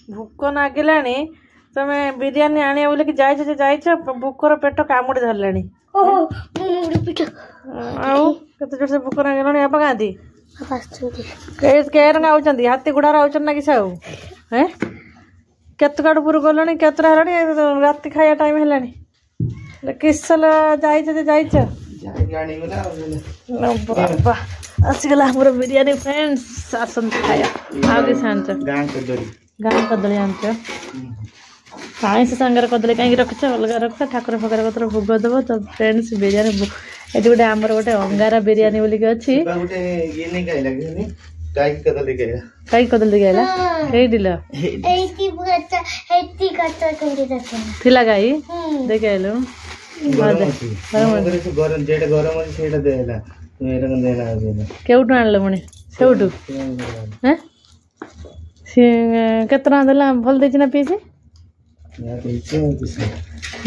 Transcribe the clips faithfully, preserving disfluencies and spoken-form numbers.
ଭୋକ ନାଗିଲାଣି। ତମେ ବିରିୟାନୀ ଆଣିବ ବୋଲିକି ଯାଇଛ ଯେ ଯାଇଛ, ଭୋକର ପେଟ କାମୁଡ଼ି ଧରିଲାଣି। ଆଉ କେତେ ଜୋରସେ ଭୋକ ନାଗିଲାଣି। ବାପା କାହାନ୍ତି? କେରଙ୍ଗ ଆଉଛନ୍ତି, ହାତୀ ଘୋଡ଼ାରେ ଆଉଛନ୍ତି ନା କିଛି ଆଉ? ହେଁ, କେତେ କାଟପୁର ଗଲଣି, କେତେଟା ହେଲାଣି, ରାତି ଖାଇବା ଟାଇମ୍ ହେଲାଣି। କିସଲ ଯାଇଛ ଯେ ଯାଇଛ। ବାବା ଆସିଗଲା ଆମର ବିରିୟାନୀ। ଫ୍ରେଣ୍ଡସ୍, ଆସନ୍ତୁ ଖାଇବା। ଆଉ କିଛି ଆଣିଛ? ଗାଁ କଦଳୀ ଆଣିଛ? ଆଇଁଷ ସାଙ୍ଗରେ କଦଳୀ କାହିଁକି ରଖିଛ? ଅଲଗା ରଖ, ଠାକୁର ଫାକୁର କତର ଭୋଗ ଦେବ ତ। ଫ୍ରେଣ୍ଡସ୍, ବିରିୟାନୀ ଏଠି ଗୋଟେ ଆମର ଗୋଟେ ଅଙ୍ଗାରା ବିରିୟାନୀ ବୋଲିକି ଅଛି। କାଇଁ କଦଳୀ ଦେଇକି ଆଇଲା? ଏଇଠି ଥିଲା ଗାଈ, ଦେଇକି ଆଇଲୁ। କେଉଁଠୁ ଆଣିଲ ପୁଣି? ସେଉଠୁ କେତେ ଟଙ୍କା ଦେଲା? ଭଲ ଦେଇଛି ନା ପିସ୍?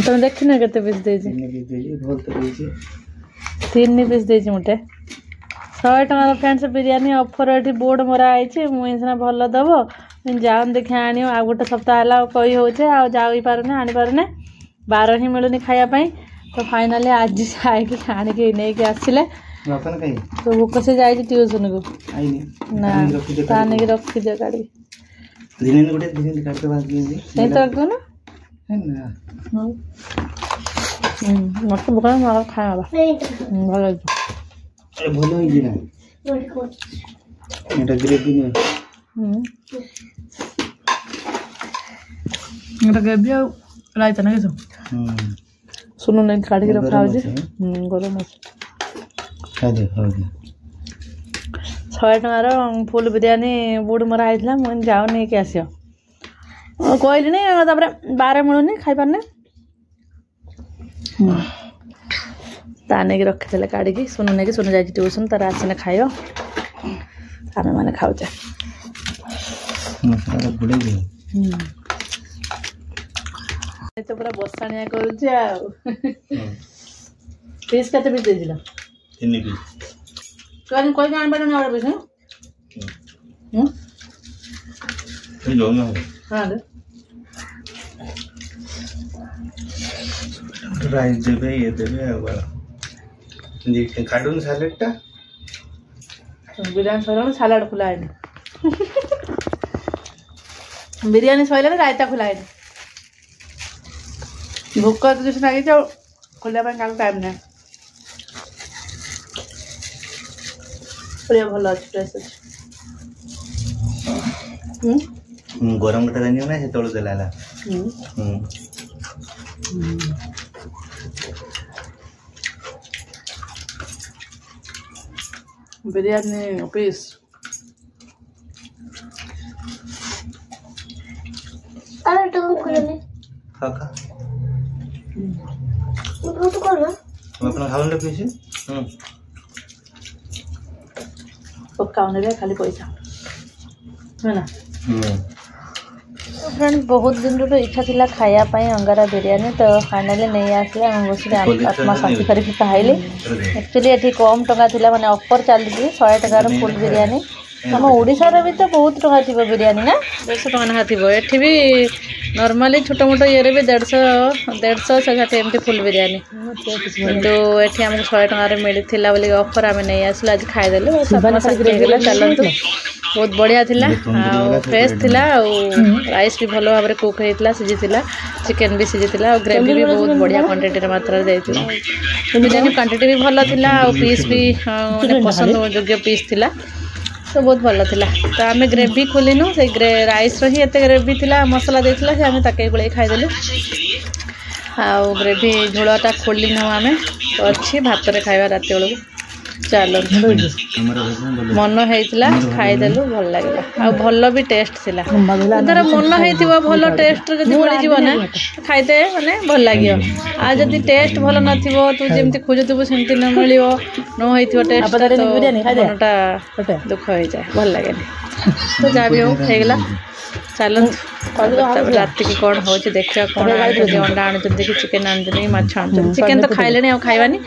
ତମେ ଦେଖିନ କେତେ ପିସ୍ ଦେଇଛି? ତିନି ପିସ୍ ଦେଇଛି ମୋଟେ। ଶହେ ଟଙ୍କାର ଫ୍ରେଣ୍ଡସ୍ ବିରିୟାନୀ ଅଫର୍ ଏଠି ବୋର୍ଡ଼ ମରା ହେଇଛି। ମୁଁ ସିନା ଭଲ ଦେବ, ଯାଉନି ଦେଖିଆ ଆଣିବ। ଆଉ ଗୋଟେ ସପ୍ତାହ ହେଲା ଆଉ କହି ହେଉଛି, ଆଉ ଯାଇପାରୁନି, ଆଣିପାରୁନି, ବାର ହିଁ ମିଳୁନି ଖାଇବା ପାଇଁ। ତ ଫାଇନାଲି ଆଜି ଯାଇକି ଆଣିକି ନେଇକି ଆସିଲେ। ତ ଭୋକ, ସେ ଯାଇଛି ଟ୍ୟୁସନକୁ ନା, ତା ନେଇକି ରଖିଦିଅ କାଢ଼ିକି। ସେଇ ତ ରଖିବ ନା ମତେ ଭୋକ, ଖାଇବା ଭଲ ହେଇଛି। ଭଲ ହେଇଛି ନା ଏଟା? ଗ୍ରେଭି ନୁହେଁ ଏଟା, ଗ୍ରେଭି ଆଉ ରାଇତା ନା କିଛି ସୁନୁ ନେଇକି କାଢ଼ିକି ରଖା ହଉଛି। ଗରମ ଅଛି। ଶହେ ଟଙ୍କାର ଫୁଲ୍ ବିରିୟାନୀ ବୁଡ଼ ମରା ହେଇଥିଲା। ମୁଁ ଯାଉ ନେଇକି ଆସିବ କହିଲିଣି, ତାପରେ ବାର ମିଳୁନି, ଖାଇପାରୁନି। ତା ନେଇକି ରଖିଥିଲେ କାଢ଼ିକି ସୁନୁ ନେଇକି। ସୁନୁ ଯାଇଛି ଟ୍ୟୁସନ୍, ତାର ଆସିନେ ଖାଇବ। ଆମେ ମାନେ ଖାଉଛେ। ତ ପୁରା ବସାଣିଆ କରୁଛି। ଆଉ ପିସ୍ କେତେ ପିସ୍ ଦେଇଥିଲ? ତିନି ପିସ୍। କହିକି ଆଣିପାରିଲୁନି ଆଉ ଗୋଟେ ପିସ୍? ହଁ, ରାଇସ୍ ଦେବେ, ଇଏ ଦେବେ, ଆଉ କାଢୁন ସାଲାଡ଼ଟା। ବିରିୟାନୀ ସରିଲାଣି, ସାଲାଡ଼ ଖୋଲା ହେଇନି। ବିରିୟାନୀ ସରିଲାଣି, ରାଇତା ଖୋଲା ହେଇନି। ଭୋକ ଏତେ ଜୋରସେ ଲାଗିଛି, ଆଉ ଖୋଲିବା ପାଇଁ କାହାକୁ ଟାଇମ୍ ନାହିଁ। ପରିବା ଭଲ ଅଛି, ଫ୍ରେଶ୍ ଅଛି। ଗରମ କଥା ଜାଣିବ ନା, ସେତେବେଳୁ ଦେଲା ହେଲା। ବିରିୟାନୀ ପିସ୍ ଖା ଖା। ଆପଣ ଖାଉନ ପିସ୍। ପକାଉନି ଖାଲି ପଇସା ହେଲା। ଫ୍ରେଣ୍ଡ, ବହୁତ ଦିନରୁ ଇଚ୍ଛା ଥିଲା ଖାଇବା ପାଇଁ ଅଙ୍ଗାରା ବିରିୟାନୀ, ତ ଫାଇନାଲି ନେଇ ଆସିଲେ। ଆମେ ବସିକି ଆତ୍ମା ଶାନ୍ତି କରିକି ଖାଇଲି। ଆକ୍ଚୁଆଲି ଏଠି କମ୍ ଟଙ୍କା ଥିଲା, ମାନେ ଅଫର୍ ଚାଲିଛି, ଶହେ ଟଙ୍କାର ଫୁଲ୍ ବିରିୟାନୀ। ଆମ ଓଡ଼ିଶାରେ ବି ତ ବହୁତ ଟଙ୍କା ଥିବ ବିରିୟାନୀ ନା, ଦେଢ଼ଶହ ଟଙ୍କା ଲେଖା ଥିବ। ଏଠି ବି ନର୍ମାଲି ଛୋଟ ମୋଟ ଇଏରେ ବି ଦେଢ଼ଶହ, ଦେଢ଼ଶହ ଶହେ ଷାଠିଏ ଏମିତି ଫୁଲ୍ ବିରିୟାନୀ। କିନ୍ତୁ ଏଠି ଆମକୁ ଶହେ ଟଙ୍କାରେ ମିଳିଥିଲା ବୋଲି ଅଫର୍, ଆମେ ନେଇ ଆସିଲୁ, ଆଜି ଖାଇଦେଲୁ, ଆତ୍ମା ଶାନ୍ତି ହେଇଗଲା। ଚାଲନ୍ତୁ, ବହୁତ ବଢ଼ିଆ ଥିଲା ଆଉ ଫ୍ରେଶ୍ ଥିଲା, ଆଉ ରାଇସ୍ ବି ଭଲ ଭାବରେ କୁକ୍ ହେଇଥିଲା, ସିଝିଥିଲା, ଚିକେନ୍ ବି ସିଝିଥିଲା, ଆଉ ଗ୍ରେଭି ବି ବହୁତ ବଢ଼ିଆ କ୍ୱାଣ୍ଟିଟିର ମାତ୍ରାରେ ଦେଇଥିଲା। ବିରିୟାନୀ କ୍ୱାଣ୍ଟିଟି ବି ଭଲ ଥିଲା, ଆଉ ପିସ୍ ବି ମାନେ ପସନ୍ଦ ଯୋଗ୍ୟ ପିସ୍ ଥିଲା, ତ ବହୁତ ଭଲ ଥିଲା। ତ ଆମେ ଗ୍ରେଭି ଖୋଲିନୁ, ସେଇ ଗ୍ରେ ରାଇସ୍ର ହିଁ ଏତେ ଗ୍ରେଭି ଥିଲା, ମସଲା ଦେଇଥିଲା ସେ, ଆମେ ତାକେ ଗୋଳେଇ ଖାଇଦେଲୁ। ଆଉ ଗ୍ରେଭି ଝୋଳଟା ଖୋଲିନୁ ଆମେ, ଅଛି, ଭାତରେ ଖାଇବା ରାତି ବେଳକୁ। ଚାଲନ୍ତୁ, ମନ ହେଇଥିଲା ଖାଇଦେଲୁ, ଭଲ ଲାଗିଲା, ଆଉ ଭଲ ବି ଟେଷ୍ଟ ଥିଲା। ଧର ମନ ହେଇଥିବ, ଭଲ ଟେଷ୍ଟ ଯଦି ମିଳିଯିବ ନା, ଖାଇତେ ମାନେ ଭଲ ଲାଗିବ। ଆଉ ଯଦି ଟେଷ୍ଟ ଭଲ ନଥିବ, ତୁ ଯେମିତି ଖୋଜୁଥିବୁ ସେମିତି ନ ମିଳିବ, ନ ହେଇଥିବ ଟେଷ୍ଟ, ତ ମନଟା ଦୁଃଖ ହେଇଯାଏ, ଭଲ ଲାଗେନି। ତ ଯାହା ବି ହଉ ହେଇଗଲା। ଚାଲନ୍ତୁ, ତାପରେ ରାତିକି କ'ଣ ହେଉଛି ଦେଖିବା। କ'ଣ ଆଣୁଛନ୍ତି? ଅଣ୍ଡା ଆଣୁଛନ୍ତି କି ଚିକେନ୍ ଆଣୁଛନ୍ତି କି ମାଛ ଆଣୁଛନ୍ତି? ଚିକେନ୍ ତ ଖାଇଲେଣି, ଆଉ ଖାଇବାନି।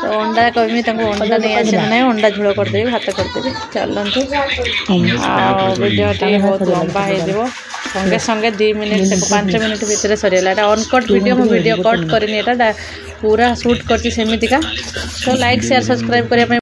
ତ ଅଣ୍ଡା କହିବି ତାଙ୍କୁ, ଅଣ୍ଡା ନେଇ ଆସିଲେ ନାହିଁ, ଅଣ୍ଡା ଝୋଳ କରିଦେବି, ଭାତ କରିଦେବି। ଚାଲନ୍ତୁ, ଆଉ ଭିଡ଼ିଓଟି ବହୁତ ଲମ୍ବା ହେଇଯିବ। ସଙ୍ଗେ ସଙ୍ଗେ ଦୁଇ ମିନିଟ୍, ପାଞ୍ଚ ମିନିଟ୍ ଭିତରେ ସରିଗଲା। ଏଇଟା ଅନକଟ୍ ଭିଡ଼ିଓ, ମୁଁ ଭିଡ଼ିଓ କଟ୍ କରିନି, ଏଇଟା ପୁରା ସୁଟ୍ କରିଛି ସେମିତିକା। ତ ଲାଇକ୍, ସେୟାର, ସବସ୍କ୍ରାଇବ୍ କରିବା ପାଇଁ